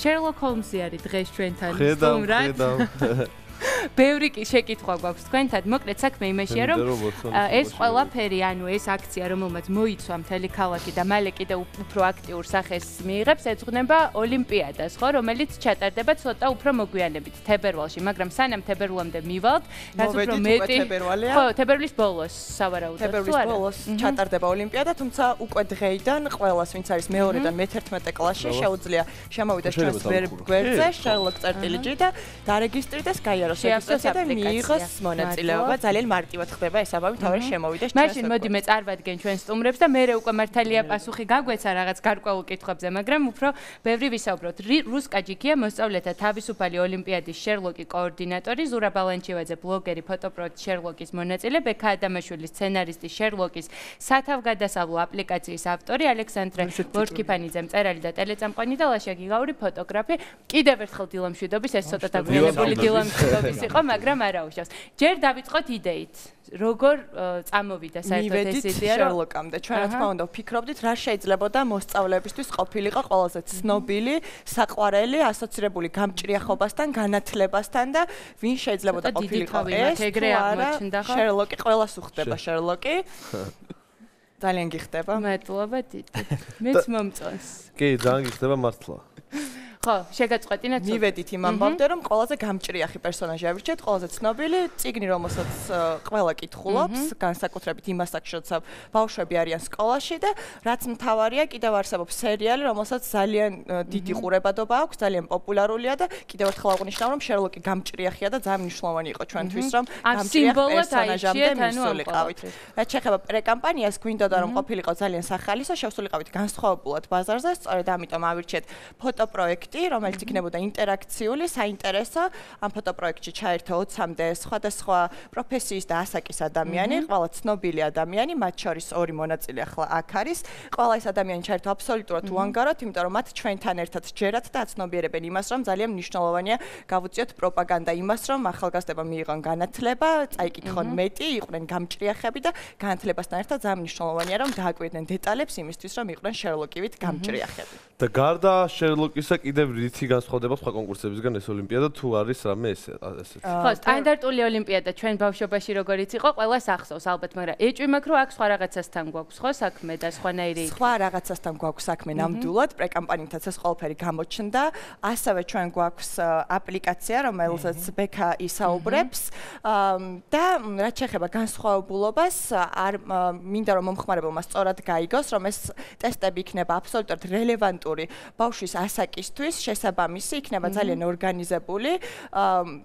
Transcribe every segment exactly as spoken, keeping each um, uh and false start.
Sherlock Holmes-ი არის დღეს ჩვენთან სტუმრად. ბევრი შეკითხვა გვაქვს თქვენთან. მოკლედ საქმე იმაშია, რომ ეს ყველაფერი, ანუ ეს აქცია, რომელმაც მოიცვა მთელი ქალაქი და მალე კიდევ უფრო აქტიურ სახეს მიიღებს, ეძღვნება ოლიმპიადას, ხო, რომელიც ჩატარდება ცოტა უფრო მოგვიანებით თებერვალში, მაგრამ სანამ თებერვლამდე მივალთ, რაც უფრო მეტი ხო, თებერვლის ბოლოს, სავარაუდოდ. თებერვლის ბოლოს ჩატარდება ოლიმპიადა, თუმცა უკვე დღეიდან ყველას, ვინც არის მეორედან მეთერთმეტე კლასში, შეუძლია შემოვიდეს ჩვენს გვერდზე, Sherlock წერტილი ჯი და დარეგისტრირდეს გაიაროს და მიიღოს მონაწილეობა. ძალიან მარტივად ხდება ეს ამბავი, თავი შემოვიდეს ჩვენს. მაშინ მოდი მე წარვადგენ ჩვენ სტუმრებს და მე უკვე მართალია პასუხი გაგვეცა რაღაც გარკვეულ კითხვებზე, მაგრამ უფრო ბევრი ვისაუბროთ. რუსკა ჯიქია მოსწავლეთა თავისუფალი ოლიმპიადის Sherlock-ი კოორდინატორი, ზურა ბალანჩივაძე ბლოგერი, ფოტოპროექტ Sherlock-ის მონაწილე, ბექა ადამიანშვილი სცენარისტი Sherlock-ის სათავგადასავლო აპლიკაციის ავტორი, ალექსანდრე ლორჩკიფანიძე მწერალი და ტელეწამყვანი და ლაშა გიგაური ფოტოგრაფი. კიდევ ერთხელ დილამშვიდობის, ეს ცოტა დაგვიანებული დილამშვიდობის იყო, მაგრამ არა უშავს. ჯერ დავიწყოთ იდეით. როგორ წამოვიდა საერთოდ ეს იდეა Sherlock-ამდე? ჩვენ რა თქმა უნდა ვფიქრობდით, რა შეიძლებოდა მოსწავლეებისთვის ყოფილიყო ყველაზე ცნობილი, საყვარელი, ასოცირებული გამჭრიახობასთან, განათლებასთან და ვინ შეიძლებოდა ყოფილიყო ეს? Sherlock-ი, ყველას უხდება Sherlock-ი. ძალიან გიხდება. მადლობა დიდი. მეც მომწონს. კი, ძალიან გიხდება მართლა. ხო, შეგაწყვეტინეთ. მივედით იმ ამბავდე, რომ ყველაზე გამჭრიახი პერსონაჟი ავირჩიეთ, ყველაზე ცნობილი, წიგნი, რომელსაც ყველა კითხულობს, განსაკუთრებით იმას აქვს, როცა ბავშვები არიან სკოლაში და რაც მთავარია, კიდევ არსებობს სერიალი, რომელსაც ძალიან დიდი ყურებადობა აქვს, ძალიან პოპულარულია და კიდევ ერთხელ აღნიშნავ, რომ Sherlock-ი გამჭრიახია და ძალიან მნიშვნელოვანი იყო ჩვენთვის, რომ გამჭრიახ პერსონაჟამდე მისულიყავით. რაც შეეხება პრეკამპანიას, გვინდოდა რომ ყოფილიყო ძალიან სახალისო, შევსულიყავით განსხვავებულად ბაზარზე, სწორედ ამიტომ ავირჩიეთ ფოტოპროექტი, რომელიც იქნებოდა ინტერაქციული, საინტერესო. ამ ფოტოპროექტში ჩაერთო ოცამდე სხვადასხვა პროფესიის და ასაკის ადამიანი, ყველა ცნობილი ადამიანი, მათ შორის ორი მონაწილე ახლა აქ არის. ყველა ეს ადამიანი ჩაერთო აბსოლუტურად უანგაროდ, იმიტომ რომ მათ ჩვენთან ერთად ჯერათ და აცნობიერებენ იმას, რომ ძალიან მნიშვნელოვანია გავუწიოთ პროპაგანდა იმას, რომ ახალგაზრდებმა მიიღონ განათლება, წაიკითხონ მეტი, იყვნენ გამჭრიახები და განათლებასთან ერთად ძალიან მნიშვნელოვანია, რომ დააკვირდნენ დეტალებს იმისთვის, რომ იყვნენ Sherlock-ივით გამჭრიახები. და გარდა Sherlock-ისა კიდევ რითი განსხვავდება სხვა კონკურსებისგან ეს ოლიმპიადა თუ არის რამე ესე ესეც? ხო, სტანდარტული ოლიმპიადა ჩვენ ბავშვობაში როგორიც იყო, ყველას ახსოვს ალბათ, მაგრამ ეჭვი მაქვს, რომ აქ სხვა რაღაცასთან გვაქვს, ხო, საქმე და სხვანაირი. სხვა რაღაცასთან გვაქვს საქმე ნამდვილად, პრეკამპანიითაც ეს ყველაფერი გამოჩნდა. ასევე ჩვენ გვაქვს აპლიკაცია, რომელზეც ბექა ისაუბრებს და რაც შეეხება განსხვავებულობას, არ მინდა რომ მომხმარებელმა სწორად გაიგოს, რომ ეს ტესტები იქნება აბსოლუტურად რელევანტური ბავშვის ასაკისთვის, შესაბამისი, იქნება ძალიან ორგანიზებული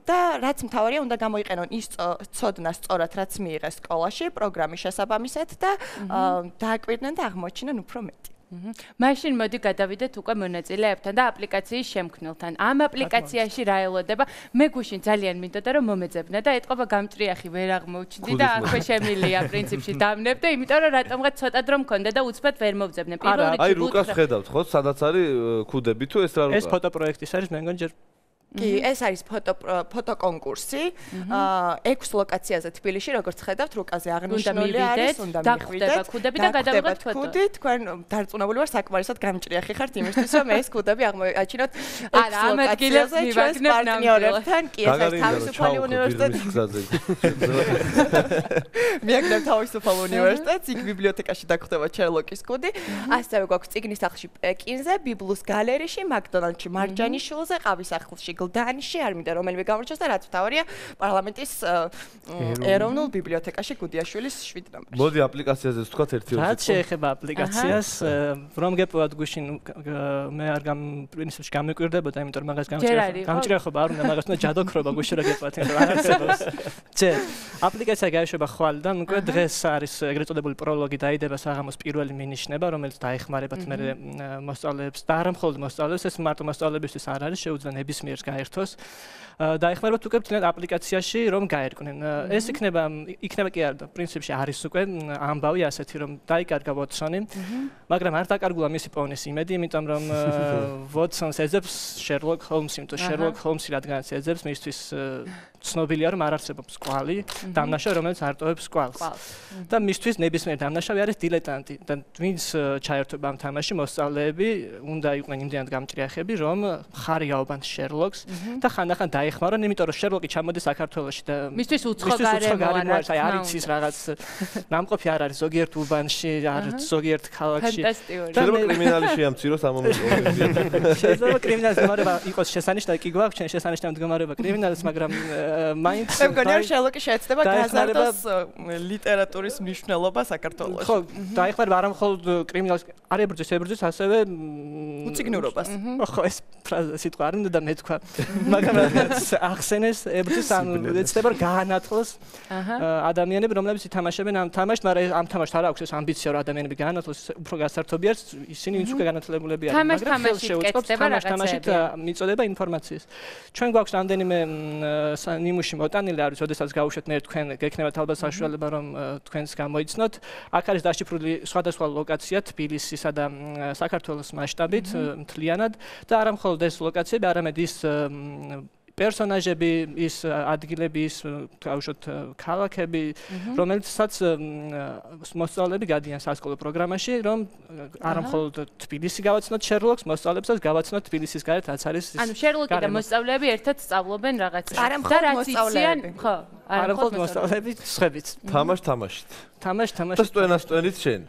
და რაც მთავარია, უნდა გამოიყენონ ის ცოდნა სწორად, რაც მიიღეს სკოლაში, პროგრამის შესაბამისად და დააკვირდნენ და აღმოჩინენ უფრო მეტი. მაშინ მოდი გადავიდეთ უკვე მონაწილეებთან და აპლიკაციის შემქმნელთან. ამ აპლიკაციაში რა ელოდება? მე გუშინ ძალიან მინდოდა რომ მომეძებნა და ეთყობა გამჭრიახი ვერ აღმოჩნდი და აქვე შემილია პრინციპში დამნებ და იმიტომ რომ რატომღაც ცოტა დრო მქონდა და უცბად ვერ მოვძებნე. პირველ რიგში აი რუკას ხედავთ ხო? სადაც არის ქუდები თუ ეს რა რუკა? ეს ფოტოპროექტის არის, მე მგონი ჯერ კი, ეს არის ფოტო ფოტოკონკურსი. ექვს ლოკაციაზე თბილისში, როგორც ხედავთ, რუკაზე აღნიშნული არის, უნდა მივიდეთ. ქუდები და გადავიღოთ ფოტო. ქუდი, თქვენ დარწმუნებული ვარ, საკმარისად გამჭრიახი ხართ იმისთვის, რომ ეს ქუდები აღმოაჩინოთ. არა, ამ ადგილას მივაგნებ პარტნიორებთან. კი, ეს არის თავისუფალი უნივერსიტეტი. მივაგნებ თავისუფალ უნივერსიტეტს, იქ ბიბლიოთეკაში დაგხვდება Sherlock-ის ქუდი. ასევე გვაქვს წიგნის სახლში პეკინზე, ბიბლუს გალერეში, მაკდონალდში, მარჯანიშვილზე, ყავის სახლში დანში არ მინდა რომელიმე გამორჩოს და რაც მთავარია პარლამენტის ეროვნულ ბიბლიოთეკაში გუდიაშვილის შვიდ ნომერში. მოდი აპლიკაციაზე ვთქვათ ერთი ორი. რაც შეეხება აპლიკაციას, რომ გეპოვათ გუშინ მე არ გამ პრინციპში გამიკვირდებოდა, იმიტომ რომ მაგას გამჭრიახობა არ უნდა, მაგას უნდა ჯადოქრობა გუშინ რა გეპოვათ, იმიტომ რომ არ არსებობს. ჯერ აპლიკაცია გაიშვება ხვალიდან, უკვე დღეს არის ეგრეთ წოდებული პროლოგი დაიდება საღამოს პირველი მინიშნება, რომელიც დაეხმარებათ მე მოსწავლეებს და არა მხოლოდ მოსწავლეებს, ეს მარტო მოსწავლებისთვის არ არის, შეუძლია ნებისმიერ გაერთოს. დაეხმაროთ უკვე თუნდაც აპლიკაციაში რომ გაერკვნენ. ეს იქნება იქნება კი არა, პრინციპში არის უკვე ამბავი ასეთი რომ დაიკარგა Watson-ი, მაგრამ არ დაკარგულა მისი პოვნის იმედი, იმიტომ რომ Watson-ს ეძებს Sherlock Holmes-ი, იმიტომ Sherlock Holmes-ი რადგანაც ეძებს, მისთვის ცნობილია რომ არ არსებობს კვალი, დამნაშავე რომელიც არტოვებს კვალს. და მისთვის ნებისმიერ დამნაშავე არის დილეტანტი და ვინც ჩაერთვება ამ თამაში მოსწავლეები უნდა იყვნენ იმდენად გამჭრიახები რომ ხარი აობან Sherlock-ს და ხანდახან დაეხმარონ, იმიტომ რომ Sherlock-ი ჩამოდის საქართველოში და მისთვის უცხო გარემო არის, აი არ იცის რაღაც ნამყოფი არ არის ზოგიერთ უბანში, არ ზოგიერთ ქალაქში. შეიძლება კრიმინალი შეამციროს ამ მომენტში. შეიძლება კრიმინალის მდგომარეობა იყოს შესანიშნავი, კი გვაქვს ჩვენ შესანიშნავი მდგომარეობა კრიმინალის, მაგრამ მაინც მე მგონია Sherlock-ი შეეცდება გაზარდოს ლიტერატურის მნიშვნელობა საქართველოში. ხო, დაეხმარება არა მხოლოდ კრიმინალს, არ ებრძვის, ებრძვის ასევე უციგნურობას. ხო, ეს ფრაზა სიტყვა არ უნდა და მე თქვა. მაგრამ ახსენეს ებრძვის ან ეცდება გაანათლოს ადამიანები, რომლებიც ითამაშებენ ამ თამაშს, მაგრამ ამ თამაშს არ აქვს ეს ამბიცია რომ ადამიანები გაანათლოს, უფრო გასართობიათ ისინი ვინც უკვე განათლებული არიან, მაგრამ ხელს შეუწყობს თამაშით მიწოდება ინფორმაციის. ჩვენ გვაქვს რამდენიმე ნიმუში მოტანილი არის, ოდესაც გავუშვათ მე თქვენ გექნებათ ალბათ საშუალება რომ თქვენს გამოიცნოთ. აქ არის დაშიფრული სხვადასხვა ლოკაცია თბილისისა და საქართველოს მასშტაბით მთლიანად და არა მხოლოდ ეს ლოკაციები, არამედ ის პერსონაჟები, ის ადგილები, ის გავუშვათ ქალაქები, რომელსაც მოსწავლეები გადიან სასკოლო პროგრამაში, რომ არა მხოლოდ თბილისი გავაცნოთ Sherlock-ს, მოსწავლებსაც გავაცნოთ თბილისის გარეთ, რაც არის ის. ანუ Sherlock-ი და მოსწავლეები ერთად სწავლობენ რაღაცას. არა მხოლოდ მოსწავლეები, ხო, არა მხოლოდ მოსწავლეები, სხვაებიც. თამაშ თამაშით. თამაშ თამაშით. და სტვენა სტვენით შენ.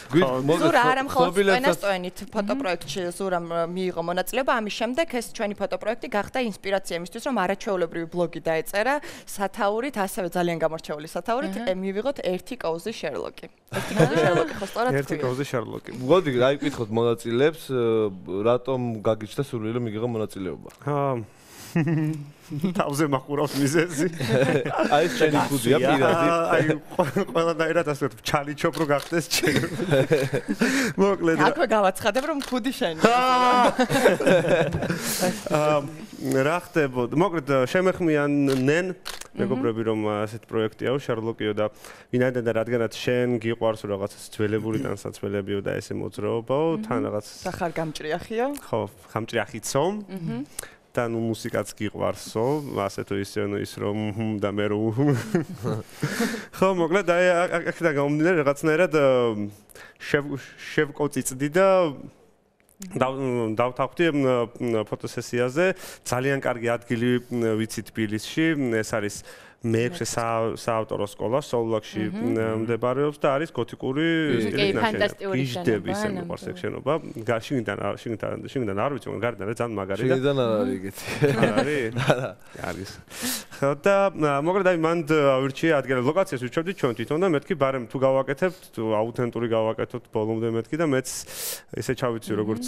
ზურა არა მხოლოდ სტვენასტვენით ფოტოპროექტში ზურამ მიიღო მონაწილეობა, ამის შემდეგ ეს ჩვენი ფოტოპროექტი გახდა ინსპირაცია იმისთვის, რომ არაჩვეულებრივი ბლოგი დაეწერა სათაურით, ასევე ძალიან გამორჩეული სათაურით, მივიღოთ ერთი კოუზი Sherlock-ი. ერთი კოუზი Sherlock-ი ხო სწორად თქვი. ერთი კოუზი Sherlock-ი. მოდი, აი ვკითხოთ მონაწილეებს, რატომ გაგიჩნდა სურვილი რომ მიიღო მონაწილეობა? თავზე მაყურავს მიზეზი. აი ეს შენი ხუდია პირადი. აი ყველანაირად ასე ვთქვი, ჩალიჩობ რო გახდეს ჩემ. მოკლედ. აქვე გავაცხადებ რომ ხუდი შენი. აა რა ხდებოდა? მოკლედ შემეხმიანნენ მეგობრები რომ ასეთ პროექტია Sherlock-იო და ვინაიდან და რადგანაც შენ გიყვარს რაღაცა ძველებული თანსაცველებიო და ესე მოძრაობაო, თან რაღაც სახარ გამჭრიახიო? ხო, გამჭრიახიცო. აჰა. და ნუ მუსიკაც გიყვარსო, ასე თუ ისე ის რომ და მე რომ ხო მოკლედ აი აქედან გამომდინარე რაღაცნაირად შევკოციწდი და დავთანხმდი ფოტოსესიაზე ძალიან კარგი ადგილი ვიცი თბილისში, ეს არის მეექვსე საავტორო სკოლა სოულაკში მდებარეობს და არის გოთიკური გიჟდები ისე მიყვარს ეგ შენობა. შიგნიდან შიგნიდან შიგნიდან არ ვიცი, მაგრამ გარედან ძალიან მაგარი და შიგნიდან არ არის ეგეთი. არის? არა. არის. ხო და მოკლედ აი მანდ ავირჩიე ადგილი ლოკაციას ვიჩვენდი ჩვენ თვითონ და მეთქი ბარემ თუ გავაკეთებთ, თუ აუთენტური გავაკეთოთ ბოლომდე მეთქი და მეც ესე ჩავიცი როგორც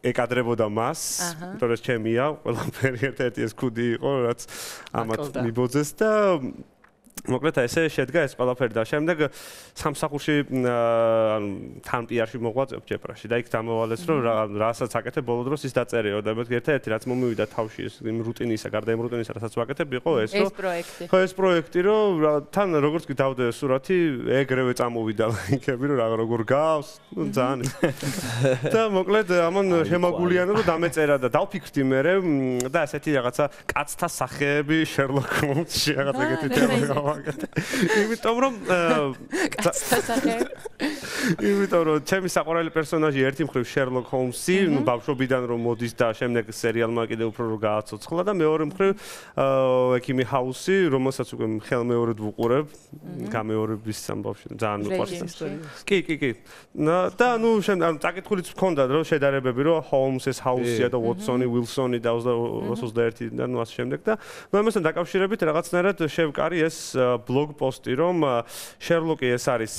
ეკადრებოდა მას, იმიტომ რომ ჩემია, ყველაფერი ერთ-ერთი ეს ქუდი იყო, რაც ამათ მიბოძეს და მოკლედ ესე შედგა ეს ყველაფერი და შემდეგ სამსახურში ანუ თან პიარში მოღვაწეობ ჯეპრაში და იქ დამოვალეს რომ რასაც აკეთებ ბოლო დროს ის დაწერეო და მეთქი ერთ-ერთი რაც მომივიდა თავში ეს იმ რუტინისა, გარდა იმ რუტინისა, რასაც ვაკეთებ იყო ეს რომ ეს პროექტი. ხო ეს პროექტი რომ თან როგორც კი დავდე სურათი ეგრევე წამოვიდა ლაიქები რომ რა როგორ გავს, ნუ ძალიან და მოკლედ ამან შემაგულიანო რომ დამეწერა და დავფიქრდი მე და ასეთი რაღაცა კაცთა სახეები Sherlock Holmes-ში რაღაც ეგეთი თემა იმიტომ რომ იმიტომ რომ ჩემი საყვარელი პერსონაჟი ერთი მხრივ Sherlock Holmes-ი, ნუ ბავშვობიდან რომ მოდის და შემდეგ სერიალმა კიდე უფრო რო გააცოცხლა და მეორე მხრივ ექიმი ჰაუსი, რომელსაც უკვე ხელმეორედ ვუყურებ, გამეორების ამბავში ძალიან მიყვარს. კი, კი, კი. და ნუ შემდეგ წაკითხულიც მქონდა რომ შედარებები რომ Holmes-ის ჰაუსია და Watson-ი, Wilson-ი და ოცდაერთი და ნუ ასე შემდეგ და ნუ ამასთან დაკავშირებით რაღაცნაირად შევკარი ეს ბლოგ პოსტი რომ Sherlock-ი ეს არის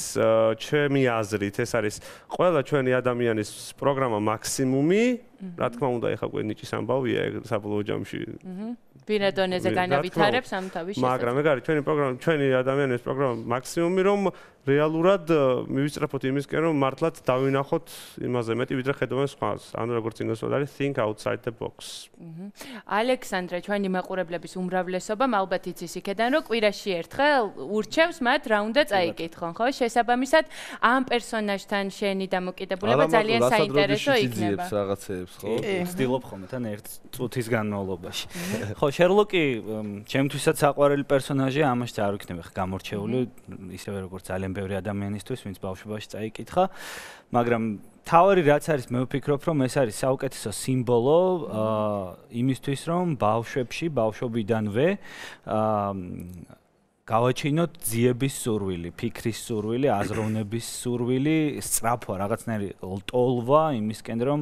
ჩემი აზრით ეს არის ყველა ჩვენი ადამიანის პროგრამა მაქსიმუმი, რა თქმა უნდა ეხლა უკვე ნიჭის ამბავია საბოლოო ჯამში. ბინადონეზე განავითარებს ამ თავის შესაძლებლობას. მაგრამ ეგ არის ჩვენი პროგრამა, ჩვენი ადამიანის პროგრამა მაქსიმუმი რომ რეალურად მივისწრაფოთ იმისკენ, რომ მართლაც დავინახოთ იმაზე მეტი, ვიდრე ხედავენ სხვას. ანუ როგორც ინგლისურად არის think outside the box. ალექსანდრე, ჩვენი მაყურებლების უმრავლესობამ ალბათ იცის იქედან, რომ კვირაში ერთხელ ურჩევს მათ რა უნდა წაიკითხონ, ხო? შესაბამისად, ამ პერსონაჟთან შენი დამოკიდებულება ძალიან საინტერესო იქნება. რაღაცეებს, ხო? ვცდილობ ხოლმე თან ერთ წუთის განმავლობაში. ხო, შერლოკი ჩემთვისაც საყვარელი პერსონაჟია, ამაში არ ვიქნები ხა გამორჩეული, ისევე როგორც ძალიან ბევრი ადამიანისთვის, ვინც ბავშვობაში წაიკითხა, მაგრამ თავარი რაც არის, მე ვფიქრობ, რომ ეს არის საუკეთესო სიმბოლო იმისთვის, რომ ბავშვებში, ბავშვობიდანვე გავაჩინოთ ძიების სურვილი, ფიქრის სურვილი, აზროვნების სურვილი, სწრაფვა, რაღაცნაირი ტოლვა იმისკენ, რომ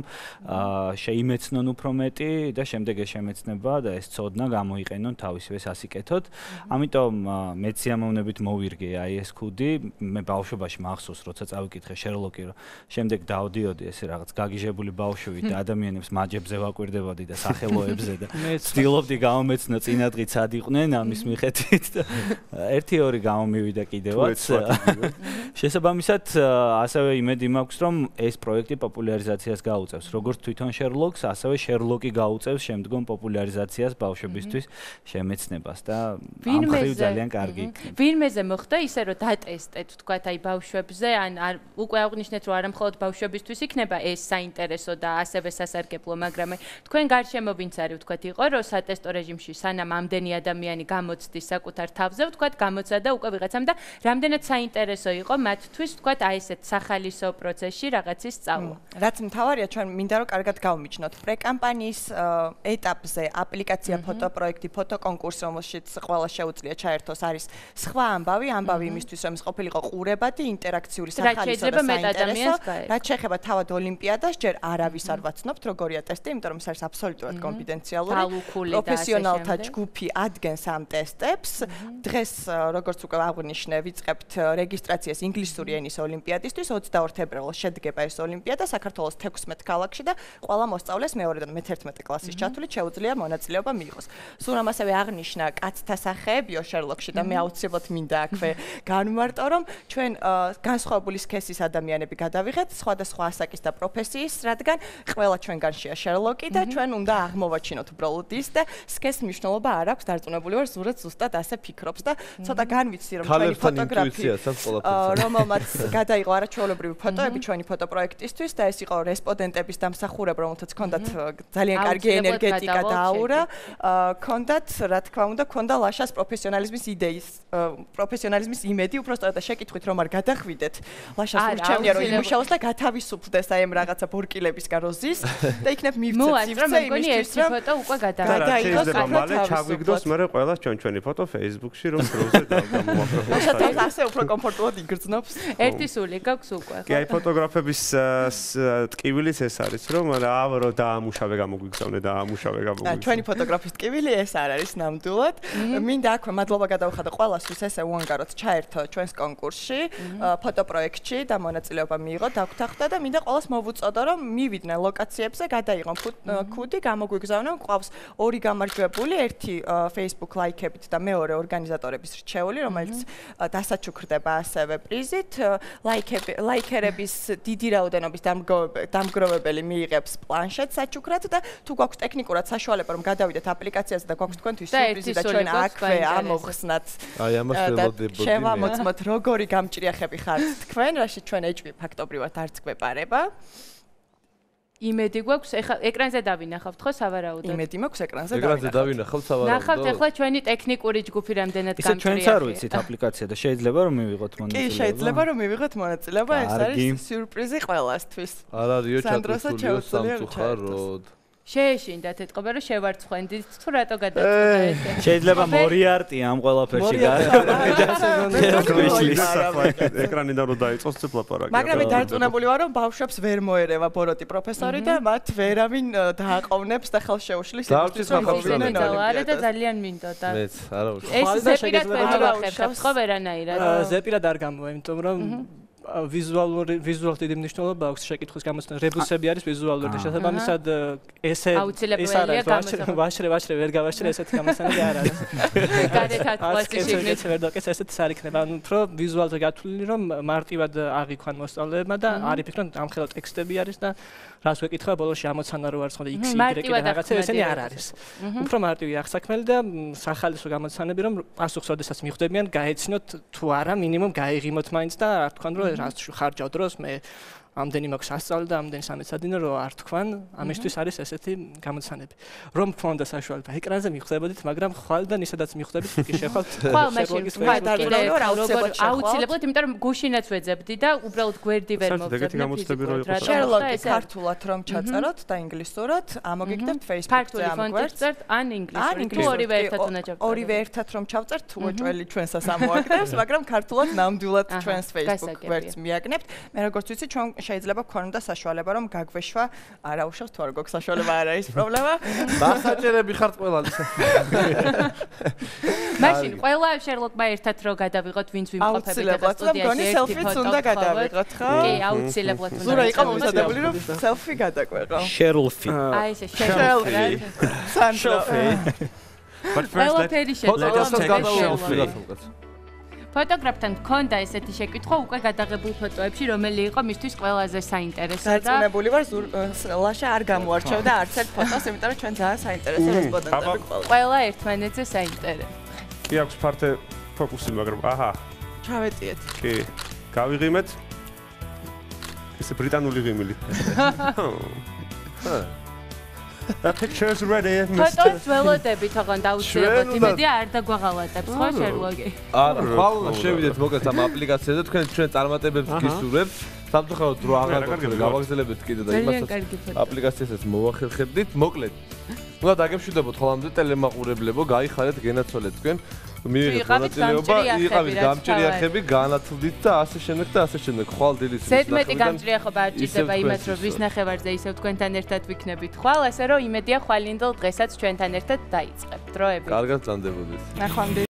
შეიმეცნონ უფრო მეტი და შემდეგ ეს შემეცნება და ეს ცოდნა გამოიყენონ თავისივე სასიკეთოდ. ამიტომ მეც სიამოვნებით მოვირგე აი ეს ქუდი, მე ბავშვობაში მახსოვს, როცა წავიკითხე შერლოკი, რომ შემდეგ დავდიოდი ესე რაღაც გაგიჟებული ბავშვი და ადამიანებს მაჯებზე ვაკვირდებოდი და სახელოებზე და ვცდილობდი გამომეცნო წინადღით სად იყვნენ ამის მიხედვით და ერთი ორი გამომივიდა კიდევაც. შესაბამისად, ასევე იმედი მაქვს, რომ ეს პროექტი პოპულარიზაციას გაუწევს. როგორც თვითონ შერლოკს, ასევე შერლოკი გაუწევს შემდგომ პოპულარიზაციას ბავშვებისთვის შემეცნებას და ამ ხრივ ძალიან კარგი იქნება. ვინმეზე მოხდა ისე, რომ დატესტეთ, თქვათ, აი ბავშვებზე, ან უკვე აღნიშნეთ, რომ არა მხოლოდ ბავშვებისთვის იქნება ეს საინტერესო და ასევე სასარგებლო, მაგრამ თქვენ გარშემო ვინც არის, თქვათ, იყო, რომ სატესტო რეჟიმში სანამ ამდენი ადამიანი გამოცდის საკუთარ თავზე, თქვათ, გამოცადა უკვე ვიღაცამ და რამდენად საინტერესო იყო მათთვის, თქვათ, აი ესეთ სახალისო პროცესში რაღაცის სწავლა. რაც მთავარია, ჩვენ მინდა რომ კარგად გავმიჯნოთ. პრეკამპანიის ეტაპზე აპლიკაცია ფოტოპროექტი, ფოტოკონკურსი, რომელშიც ყველა შეუძლია ჩაერთოს, არის სხვა ამბავი, ამბავი იმისთვის, რომ ის ყოფილიყო ყურებადი, ინტერაქციური, სახალისო და საინტერესო. რაც შეეხება თავად ოლიმპიადას, ჯერ არავის არ ვაცნობთ, როგორია ტესტი, იმიტომ რომ ეს არის აბსოლუტურად კონფიდენციალური. პროფესიონალთა ჯგუფი ადგენს ამ ტესტებს. დღეს როგორც უკვე აღვნიშნე, ვიწყებთ რეგისტრაციას ინგლისური ენის ოლიმპიადისთვის. ოცდაორ თებერვალს შედგება ეს ოლიმპიადა საქართველოს თექვსმეტ ქალაქში და ყველა მოსწავლეს მეორედან მეთერთმეტე კლასის ჩათვლით შეუძლია მონაწილეობა მიიღოს. სულ ამასევე აღნიშნა კაცთა სახეებიო შერლოკში და მე აუცილებლად მინდა აქვე განვმარტო, რომ ჩვენ განსხვავებული სქესის ადამიანები გადავიღეთ, სხვადასხვა ასაკის და პროფესიის, რადგან ყველა ჩვენგანშია შერლოკი და ჩვენ უნდა აღმოვაჩინოთ უბრალოდ ის და სქესის მნიშვნელობა არ აქვს, დარწმუნებული ვარ, ზურაც ზუსტად ასე ფიქრობს და ცოტა განვიცდი რომ ჩვენი ფოტოგრაფი რომელმაც გადაიღო არაჩვეულებრივი ფოტოები ჩვენი ფოტოპროექტისთვის და ეს იყო რესპონდენტების დამსახურება, რომელთაც ჰქონდათ ძალიან კარგი ენერგეტიკა და აურა, ჰქონდათ, რა თქმა უნდა, ჰქონდა ლაშას პროფესიონალიზმის იდეის, პროფესიონალიზმის იმედი, უბრალოდ შეკითხვით რომ არ გადახვიდეთ. ლაშას ურჩევნია რომ იმუშაოს და გათავისუფლდეს აი ამ რაღაცა ბორკილებისგან როზის და იქნებ მივცეთ სივრცე იმისთვის რომ ფოტო უკვე გადაიღოს. მალე ჩაგვიგდოს მე ყველა ჩვენ ჩვენი ფოტო Facebook-ში რომ პროზე დავგამოვაფრთხილოთ. ლაშას ასე უფრო კომფორტულად იგრძნობს. ერთი სული გაქვს უკვე. კი, აი ფოტოგრაფების ტკივილიც ეს არის, რომ ავრო დაამუშავე გამოგვიგზავნე და ამუშავე გამოგვიგზავნე. ჩვენი ფოტოგრაფის ტკივილი ეს არ არის ნამდვილად. მინდა აქვე მადლობა გადავხადო ყველასთვის, ესე უანგაროდ ჩაერთო ჩვენს კონკურსში, ფოტოპროექტში და მონაწილეობა მიიღო, დაგვთანხმდა და მინდა ყველას მოვუწოდო, რომ მივიდნენ ლოკაციებზე, გადაიღონ ქუდი, გამოგვიგზავნონ. ყავს ორი გამარჯვებული, ერთი Facebook ლაიქებით და მეორე ორგანიზატორების რჩეული, რომელიც დასაჩუქრდება ასევე პრიზით. ლაიქები, ლაიქერების დიდი რაოდენობის დამგროვებელი მიიღებს პლანშეტ საჩუქრად და თუ გვაქვს ტექნიკურად საშუალება რომ გადავიდეთ აპლიკაციაზე და გვაქვს თქვენთვის სიურპრიზი და ჩვენ აქვე ამოვხსნათ. აი ამას ველოდებოდი. შევამოწმოთ როგორი გამჭრიახები ხართ თქვენ, რაში ჩვენ ეჭვი ფაქტობრივად არც გვეპარება. იმედი გვაქვს, ეხლა ეკრანზე დავინახავთ ხო სავარაუდოდ? იმედი მაქვს ეკრანზე დავინახავთ. ეკრანზე დავინახავთ სავარაუდოდ. ნახავთ ეხლა ჩვენი ტექნიკური ჯგუფი რამდენად გამჭრიახია. ისე ჩვენც არ ვიცით აპლიკაცია და შეიძლება რომ მივიღოთ მონაწილეობა. კი, შეიძლება რომ მივიღოთ მონაწილეობა, ეს არის სიურპრიზი ყველასთვის. არ არისო ჩატვირთულიო სამწუხაროდ. შეეშინდათ ეთყობა რომ შევარცხვენდით თუ რატო გადაწყვეტა ესე. შეიძლება მორიარტი ამ ყველაფერში ეკრანიდან რომ დაიწყოს ცებ ლაპარაკი. მაგრამ მე დარწმუნებული ვარ რომ ბავშვებს ვერ მოერევა ბოროტი პროფესორი და მათ ვერავინ დააყოვნებს და ხელს შეუშლის იმისთვის რომ არა და ძალიან მინდოდა. მეც არა უშ. ეს ზეპირად ვერ მოვახერხებთ ხო ვერანაირად? ზეპირად არ გამოვა, იმიტომ რომ ვიზუალური ვიზუალურ დიდი მნიშვნელობა აქვს შეკითხვის გამოცდას. რებუსები არის ვიზუალური. შესაბამისად ესე ეს არის ვაშრე ვაშრე ვერ გავაშრე ესეთი გამოცდები არ არის. გარეთაც კლასიკით ვერ დაკეს ესეთი არ იქნება. ანუ უფრო ვიზუალზე გათვლილი რომ მარტივად აღიქვან მოსწავლეებმა და არ იფიქრონ ამხელა ტექსტები არის და რას ვეკითხა ბოლოში ამოცანა რო არის ხოლმე x y და რაღაცა ესენი არ არის. უფრო მარტივი აღსაქმელი და სახალისო გამოცანები რომ პასუხს ოდესაც მიხვდებიან გაეცინოთ თუ არა მინიმუმ გაიღიმოთ მაინც და არ თქვან რომ რას ხარჯავ დროს მე ამდენი მაქვს ასწავლე და ამდენი სამეცადინო რომ არ თქვან ამისთვის არის ესეთი გამოცანები რომ ფონდა საშუალება ეკრანზე მიხვდებოდით მაგრამ ხვალიდან ისედაც მიხვდებით კი შეხვალთ ხვალ მაშინ აუცილებლად იმიტომ რომ გუშინაც ვეძებდი და უბრალოდ გვერდი ვერ მოვძებდი შერლოკი ქართულად რომ ჩაწეროთ და ინგლისურად ამოგიგდებთ Facebook-ზე ამ გვერდს ან ინგლისურად თუ ორივე ერთად უნდა ჩავწეროთ ორივე ერთად რომ ჩავწერთ თუ ოჭველი ჩვენსაც ამოაგდებს მაგრამ ქართულად ნამდვილად ჩვენს Facebook გვერდს მიაგნებთ მე როგორც ვიცი ჩვენ შეიძლება გქონოდა საშუალება რომ გაგვეშვა არაუშავს თუ არ გვაქვს საშუალება არა ის პრობლემა დასაჭერები ხართ ყველას მაშინ ყველა შერლოკმა ერთად რო გადავიღოთ ვინც ვიმყოფებით ახლა სტუდიაში ერთი ფოტო უნდა გადავიღოთ ხო კი აუცილებლად უნდა ზურა იყო მომზადებული რომ სელფი გადაგვეყო შერლფი აი ესე შერლფი სანშელფი but first let's ფოტოგრაფთან გქონდა ესეთი შეკითხვა უკვე გადაღებულ ფოტოებში რომელი იყო მისთვის ყველაზე საინტერესო და დარწმუნებული ვარ ლაშა არ გამოარჩევდა არც ერთ ფოტოს იმიტომ რომ ჩვენ ძალიან საინტერესო რესპონდენტები ყავთ ყველა ერთმანეთზე საინტერესო კი აქვს ფართე ფოკუსი მაგრამ აჰა ჩავეტიეთ კი გავიღიმეთ ეს ბრიტანული ღიმილი The pictures ready, mister. ფოტოს ველოდებით ოღონდ აუცილებლად იმედია არ დაგვაღალატებს ხო შერლოგი არა ხვალ შევიდეთ მოკლედ ამ აპლიკაციაზე თქვენ ჩვენ წარმატებებს გისურვებთ სამწუხაროდ დრო აღარ გქონდა გავაგზავნებთ კიდე და იმასაც აპლიკაციასაც მოვახერხებდით მოკლედ უნდა დაგემშვიდობოთ ხოლმე ტელემაყურებლებო გაიხარეთ გენაცვალეთ თქვენ მიიღეთ მონაწილეობა იყავით გამჭრიახები განათლდით და ასე შემდეგ და ასე შემდეგ ხვალ დილის ზედმეტი გამჭრიახობა არ ჭირდება იმას რომ ვის ნახევარზე ისევ თქვენთან ერთად ვიქნებით ხვალ ასე რომ იმედია ხვალინდელ დღესაც ჩვენთან ერთად დაიწყებთ დროებით კარგად წანდებოდეთ ნახვამდის